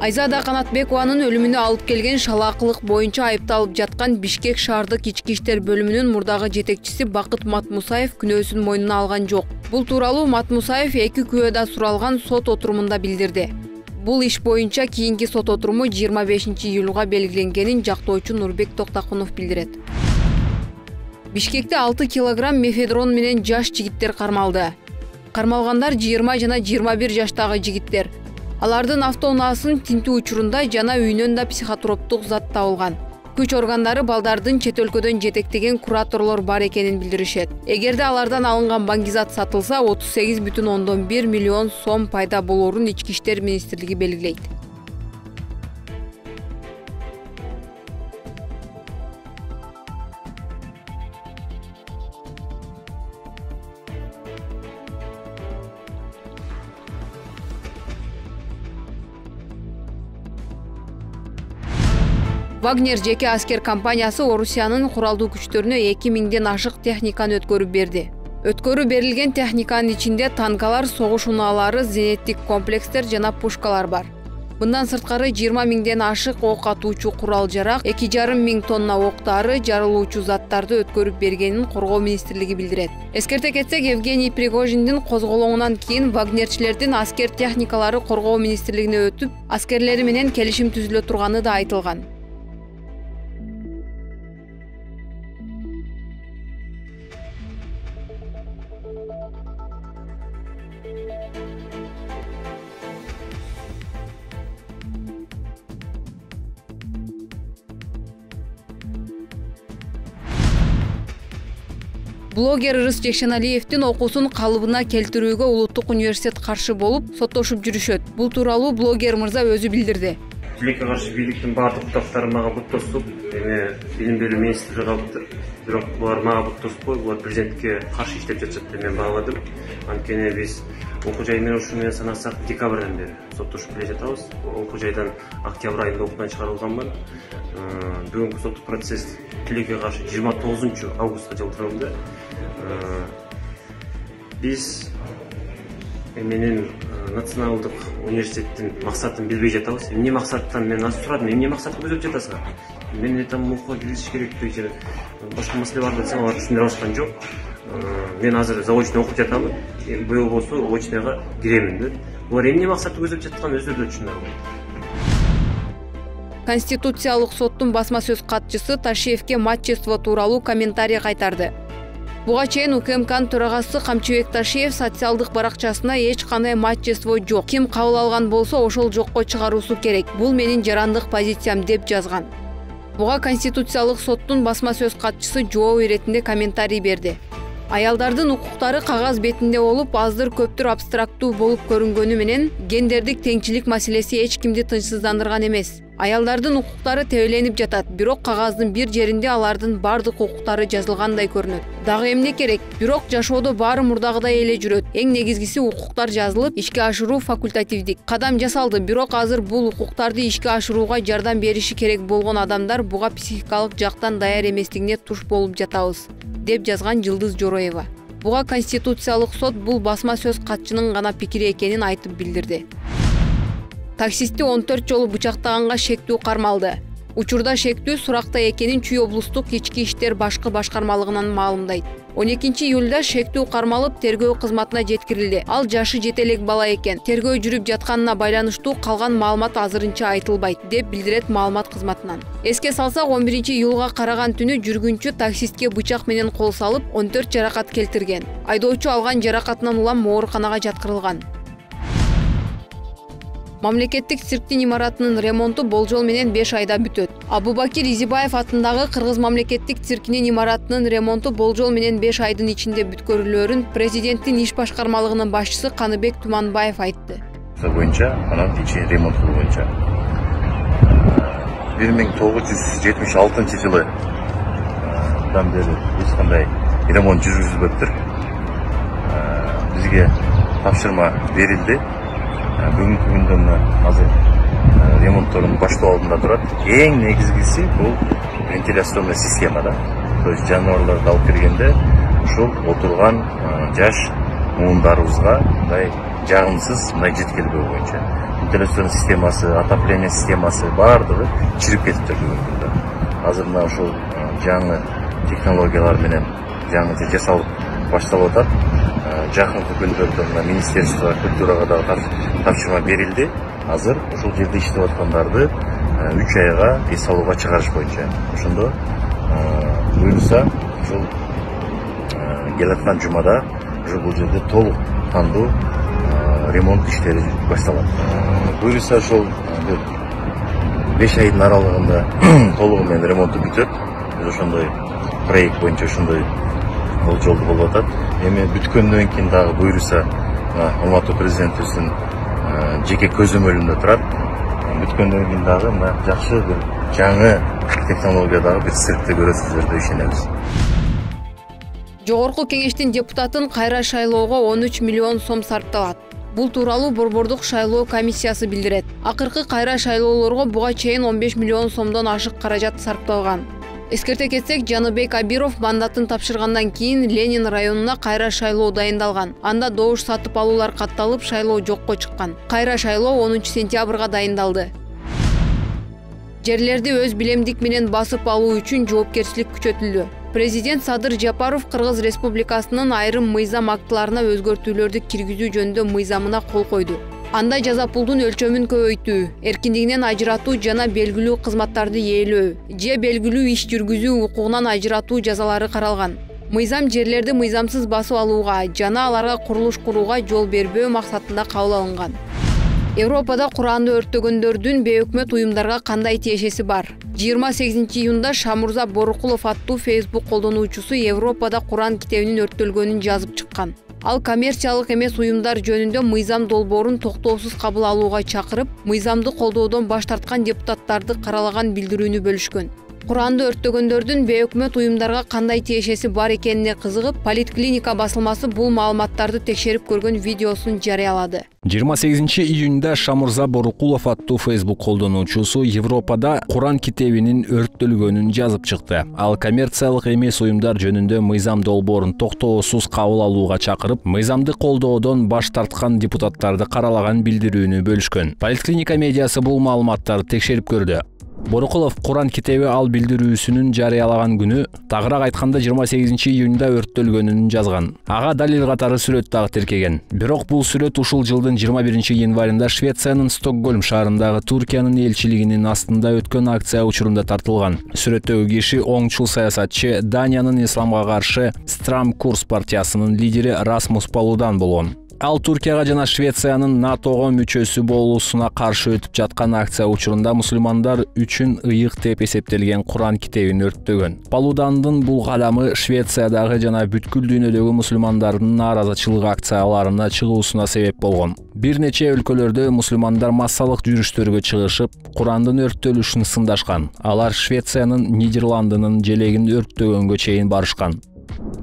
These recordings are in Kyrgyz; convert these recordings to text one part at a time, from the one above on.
Айзада Канатбекованын өлүмүнө алып келген шалаакылык боюнча айыпталып жаткан Бишкек шаардык ички иштер бөлүмүнүн мурдагы жетекчиси Бакыт Матмусаев күнөөсүн мойнуна алган жок. Бул тууралуу Матмусаев 2 күбөдө суралган сот отурумунда билдирди. Бул иш боюнча кийинки сот отуруму 25-июлга белгиленгенин жактоочу Нурбек Токтакунов билдирет. Бишкекте 6 килограмм мефедрон менен жаш жигиттер кармалды. Кармалгандар 20 жана 21 жаштагы жигиттер. Алардын автоунаасын тинтүү учурунда жана үйүнөн да психотроптук зат табылган. Күч органдары балдардын чет өлкөдөн жетектеген кураторлор бар экенин билдиришет. Эгерде алардан алынган баңгизат сатылса, 38,1 миллион сом пайда болоорун Ички иштер министрлиги белгилейт. Вагнер жеке аскер компаниясы Орусиянын куралдуу күчтөрүнө 2000ден ашык техниканы өткөрүп берди. Өткөрүп берилген техниканын ичинде танкалар, согуш унаалары, зениттик комплекстер жана пушкалар бар. Мындан сырткары 20 000ден ашык ок атуучу курал-жарак, 2,5 миң тонна октары, жарылуучу заттарды өткөрүп бергенин Коргоо министрлиги билдирет. Эскерте кетсек, Евгений Пригожиндин козголоңунан кийин вагнерчилердин аскер техникалары Коргоо министрлигине өтүп, аскерлери менен келишим түзүлө турганы да айтылган. Блогер Ырыс Жекшеналиевдин окуусун калыбына келтирүүгө Улуттук университет каршы болуп, соттошуп жүрүшөт. Бул тууралуу блогер мырза өзү билдирди. Тилекке каршы бийликтин бардык кутактары мага буттосуп, эми билим берүү министри калыптыр. Бирок булар мага буттоспой, булар президентке каршы иштеп жатышат деп мен бааладым. Анткени биз окуу жай менен ушуну менен санасак, декабрдан бери соттошуп келе жатабыз. Окуу жайдан октябрь айында окуудан чыгарылганмын. Бүгүнкү соттук процесс тилекке каршы 29-августка жылдырылды. Биз менин националдык университеттин максатын билбей жатабыз. Эмне максаттан мен азыр сурадым, эмне максатты көзөп жатасыңар? Мен там окууга киришиш керекпи же башка маселе барбы десем, алар түшүндүрө алышкан жок. Мен азыр заочно окуп жатамын. Быйыл болсо очныйга киремин деп. Булар эмне максатты көзөп жатканын өздөрү түшүнө албайт. Конституциялык соттун басма сөз катчысы Ташиевке матчество тууралуу комментарий кайтарды. Буга чейин УКМКнын төрагасы Камчыбек Ташиев социалдык баракчасына эч кандай матчество жок. Ким кабыл алган болсо ошол жокко чыгаруусу керек. Бул менин жарандык позициям деп жазган. Буга Конституциялык соттун басма сөз катчысы жооп иретинде комментарий берди. Аялдардын укуктары кагаз бетинде болуп, аздыр көптүр абстрактуу болуп көрүнгөнү менен гендердик теңчилик маселеси эч кимди тынчсыздандырган эмес. Аялдардын укуктары тебеленип жатат, бирок кагаздын бир жеринде алардын бардык укуктары жазылгандай көрүнөт. Дагы эмне керек? Бирок жашоодо баары мурдагыдай эле жүрөт. Эң негизгиси укуктар жазылып, ишке ашыруу факультативдик. Кадам жасалды, бирок азыр бул укуктарды ишке ашырууга жардам бериши керек болгон адамдар буга психикалык жактан даяр эместигине туш болуп жатабыз, деп жазган Жылдыз Жороева. Буга Конституциялык сот бул басма сөз катчынын гана пикири экенин айтып билдирди. Таксисти 14 жолу бычактаганга шектүү кармалды. Учурда шектүү суракта экенин Чүй облустук ички иштер башкы башкармалыгынан маалымдайт. 12-июлда шектүү кармалып тергөө кызматына жеткирилди. Ал жашы жете элек бала экен. Тергөө жүрүп жатканына байланыштуу калган маалымат азырынча айтылбайт, деп билдирет маалымат кызматынан. Эске салсак, 11-июлга караган түнү жүргүнчү таксистке бычак менен кол салып, 14 жаракат келтирген. Айдоочу алган жаракатынан улам ооруканага жаткырылган. Мамлекеттик цирктин имаратынын ремонту болжол менен 5 айда бүтөт. Абубакир Изибаев атындагы Кыргыз мамлекеттик циркинин имаратынын ремонту болжол менен 5 айдын ичинде бүткөрүлөөрүн президенттин иш башкармалыгынын башчысы Каныбек Туманбаев айтты. Боюнча, анан ичи ремонт боюнча 1976-жылы бери эч кандай ремонт жүргүзүлбөптүр. Бизге тапшырма берилди. Бүгүнкү күндө азыр ремонттордун баштоо алдында турат. Эң негизгиси бул вентиляционный система да. То есть жаныбарларды алып киргенде ушул отурган жаш муундарыбызга мындай жагымсыз мындай жеткилбөө боюнча вентиляцион системасы, отопление системасы баардыгы чирип кетиптир бүгүнкү күндө. Азыр мына ушул жаңы технологиялар менен жаңы жасалып башталып атат. Жакынкы күндөрдө мына Министерство культурага дагы тапшырма берилди. Азыр ушул жерде иштеп аткандарды 3 айга эс алууга чыгарыш боюнча. Ошондо буюрса ушул келаткан жумада уже бул жерде толук кандуу ремонт иштери башталат. Буюрса ошол 5 айдын аралыгында толугу менен ремонту бүтөт. Биз ошондой проект боюнча ошондой болжолду болуп атат. Эми бүткөндөн кийин дагы буюрса Алматы президентибиздин жеке көзөмөлүндө турат. Бүткөндөн кийин дагы мына жакшы бир жаңы технологиядагы бир циркти көрөсүздөр деп ишенебиз. Жогорку кеңештин депутатын кайра шайлоого 13 миллион сом сарпталат. Бул тууралуу Борбордук шайлоо комиссиясы билдирет. Акыркы кайра шайлоолорго буга чейин 15 миллион сомдон ашык каражат сарпталган. Эскерте кетсек, Жаныбек Абиров мандатын тапшыргандан кийин Ленин районуна кайра шайлоо дайындалган. Анда добуш сатып алуулар катталып, шайлоо жокко чыккан. Кайра шайлоо 10 сентябрга дайындалды. Жерлерди өз билемдик менен басып алуу үчүн жоопкерчилик күчөтүлдү. Президент Садыр Жапаров Кыргыз Республикасынын айрым мыйзам актыларына өзгөртүүлөрдү киргизүү жөнүндө мыйзамына кол койду. Анда жаза пулдун өлчөмүн көбөйтүү, эркиндигинен ажыратуу жана белгилүү кызматтарды ээлөө же белгилүү иш жүргүзүү укугунан ажыратуу жазалары каралган. Мыйзам жерлерди мыйзамсыз басып алууга жана аларга курулуш курууга жол бербөө максатында кабыл алынган. Европада Куранды өрттөгөндөрдүн бейөкмөт уюмдарга кандай тиешеси бар? 28 июнда Шамурза Борукулов аттуу Facebook колдонуучусу Европада Куран китебинин өрттөлгөнүн жазып чыккан. Ал коммерциялык эмес уюмдар жөнүндө мыйзам долбоорун токтоосуз кабыл алууга чакырып, мыйзамды колдоодон баш тарткан депутаттарды каралаган билдирүүнү бөлүшкөн. Куранды өрттөгөндөрдүн бейөкмөт уюмдарга кандай тиешеси бар экенине кызыгып, Политклиника басылмасы бул маалыматтарды текшерип көргөн видеосун жарыялады. 28 июнда Шамурза Борукулов аттуу Facebook колдонуучусу Европада Куран китебинин өрттөлгөнүн жазып чыкты. Ал коммерциялык эмес уюмдар жөнүндө мыйзам долбоорун токтоосуз кабыл алууга чакырып, мыйзамды колдоодон баш тарткан депутаттарды каралаган билдирүүнү бөлүшкөн. Политклиника медиасы бул маалыматтарды текшерип көрдү. Борукулов Куран китеби ал билдирүүсүнүн жарыялаган күнү, тагыраак айтканда 28 июнда өрттөлгөнүн жазган. Ага далил катары сүрөт дагы тиркеген. Бирок бул сүрөт ушул жылдын 21 январында Швециянын Стокгольм шаарындагы Туркиянын элчилигинин астында өткөн акция учурунда тартылган. Сүрөттөгү киши оңчул саясатчы, Даниянын исламга каршы Страм Курс партиясынын лидери Расмус Палудан болгон. Ал Туркияга жана Швециянын НАТОго мүчөсү болуусуна каршы өтүп жаткан акция учурунда мусулмандар үчүн ыйык деп эсептелген Куран китебин өрттөгөн. Палудандын бул кадамы Швециядагы жана бүткүл дүйнөдөгү мусулмандардын нааразычылык акцияларына чыгуусуна себеп болгон. Бир нече өлкөлөрдө мусулмандар массалык жүрүштөргө чыгышып, Курандын өрттөлүшүн сындашкан. Алар Швециянын, Нидерландынын желегин өрттөгөнгө чейин барышкан.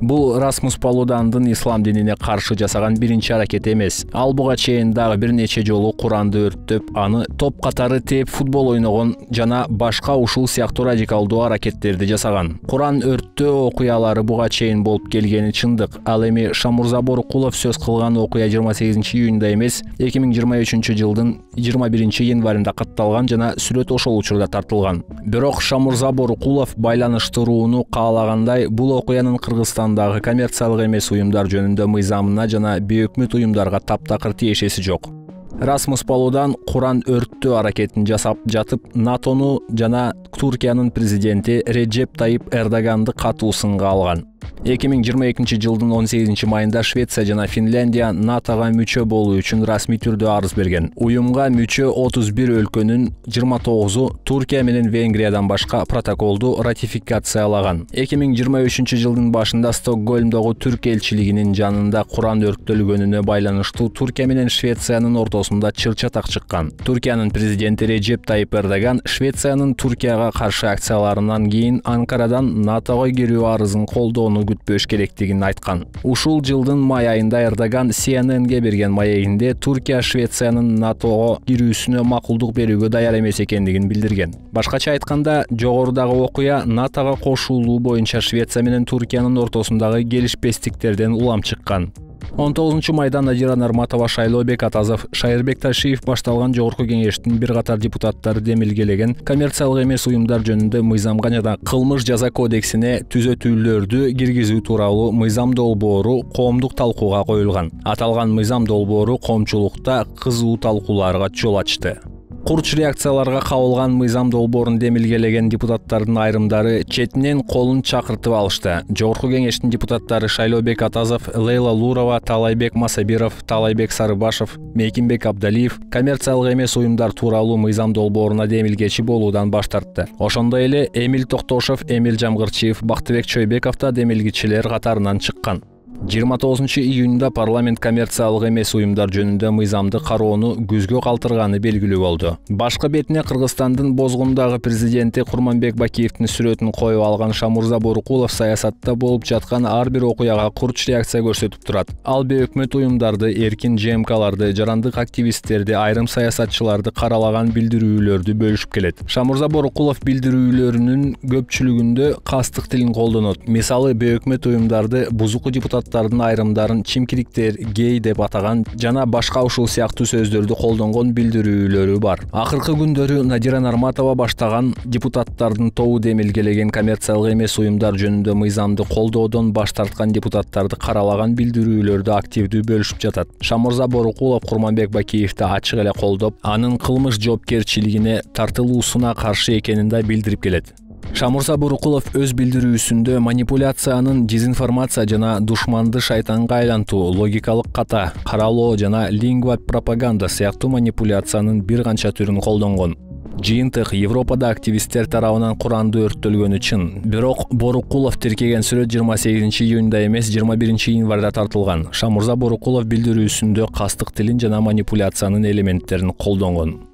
Бул Расмус Палудандын ислам динине каршы жасаган биринчи аракет эмес. Ал буга чейин дагы бир нече жолу Куранды өрттөп, аны топ катары тээп футбол ойногон жана башка ушул сыяктуу радикалдуу аракеттерди жасаган. Куран өрттөө окуялары буга чейин болуп келгени чындык. Ал эми Шамурза Борукулов сөз кылган окуя 28 июнда эмес, 2023 жылдын 21 январында катталган жана сүрөт ошол учурда тартылган. Бирок Шамурза Борукулов байланыштырууну каалагандай, бул окуянын Кыргызстандагы коммерциялык эмес уюмдар жөнүндө мыйзамына жана бейөкмөт уюмдарга таптакыр тиешеси жок. Расмус Палудан Куран өрттөө аракетин жасап жатып, НАТОну жана Туркиянын президенти Реджеп Тайип Эрдоганды катуу сынга алган. 2022 жылдын 18 майында Швеция жана Финляндия НАТОга мүчө болуу үчүн расмий түрдө арыз берген. Уюмга мүчө 31 өлкөнүн 29-у Туркия менен Венгриядан башка протоколду ратификациялаган. 2023 жылдын башында Стокгольмдогу Түрк элчилигинин жанында Куран өрттөлгөнүнө байланыштуу Туркия менен Швециянын ортосунда чыр-чатак чыккан. Туркиянын президенти Реджеп Тайип Эрдоган Швециянын Туркияга каршы акцияларынан кийин Анкарадан НАТОго кирүү арызын колдоону күтпөш керектигин айткан. Ушул жылдын май айында Эрдоган CNN-ге берген маегинде Туркия Швециянын НАТОго кирүүсүнө макулдук берүүгө даяр эмес экендигин билдирген. Башкача айтканда, жогорудагы окуя НАТОго кошулуу боюнча Швеция менен Туркиянын ортосундагы келишпестиктерден улам чыккан. 19 майда Надира Нарматова, Шайлообек Атазов, Шайырбек Ташиев башталган Жогорку Кеңештин бир катар депутаттары демилгелеген коммерциялык эмес уюмдар жөнүндө мыйзамга жана кылмыш жаза кодексине түзөтүүлөрдү киргизүү тууралуу мыйзам долбоору коомдук талкууга коюлган. Аталган мыйзам долбоору коомчулукта кызуу талкууларга жол ачты. Курч реакцияларга кабылган мыйзам долбоорун демилгелеген депутаттардын айрымдары четинен колун чакыртып алышты. Жогорку Кеңештин депутаттары Шайлообек Атазов, Лейла Лурова, Талайбек Масабиров, Талайбек Сарыбашев, Мейкинбек Абдалиев коммерциялык эмес уюмдар тууралуу мыйзам долбооруна демилгечи болуудан баш тартты. Ошондой эле Эмил Токтошов, Эмил Жамгырчиев, Бактыбек Чойбеков да демилгичилер катарынан чыккан. 29 июнда парламент коммерциялык эмес уюмдар жөнүндө мыйзамды кароону көзгө калтырганы белгилүү болду. Башкы бетине Кыргызстандын бозгундагы президенти Курманбек Бакиевдин сүрөтүн коюп алган Шамурза Борукулов саясатта болуп жаткан ар бир окуяга курч реакция көрсөтүп турат. Ал бейөкмөт уюмдарды, эркин ЖМКларды, жарандык активисттерди, айрым саясатчыларды каралаган билдирүүлөрдү бөлүшүп келет. Шамурза Борукулов билдирүүлөрүнүн көпчүлүгүндө кастык тилин колдонот. Мисалы, бейөкмөт уюмдарды бузуку депутаттардын айрымдарын чимкириктер, гей деп атаган жана башка ушул сыяктуу сөздөрдү колдонгон билдирүүлөрү бар. Акыркы күндөрү Надира Нарматова баштаган депутаттардын тобу демилгелеген коммерциялык эмес уюмдар жөнүндө мыйзамды колдоодон баш тарткан депутаттарды каралаган билдирүүлөрдү активдүү бөлүшүп жатат. Шамурза Борукулов Курманбек Бакиевди ачык эле колдоп, анын кылмыш жоопкерчилигине тартылуусуна каршы экенин да билдирип келет. Шамурза Борукулов өз билдирүүсүндө манипуляциянын, дезинформация жана душманды шайтанга айлантуу, логикалык ката, каралоо жана лингва пропаганда сыяктуу манипуляциянын бир канча түрүн колдонгон. Жыйынтык Европада активисттер тарабынан Куранды өрттөлгөнү чын. Бирок Борукулов тиркеген сүрөт 28 июнда эмес, 21 январда тартылган. Шамурза Борукулов билдирүүсүндө кастык тилин жана манипуляциянын элементтерин колдонгон.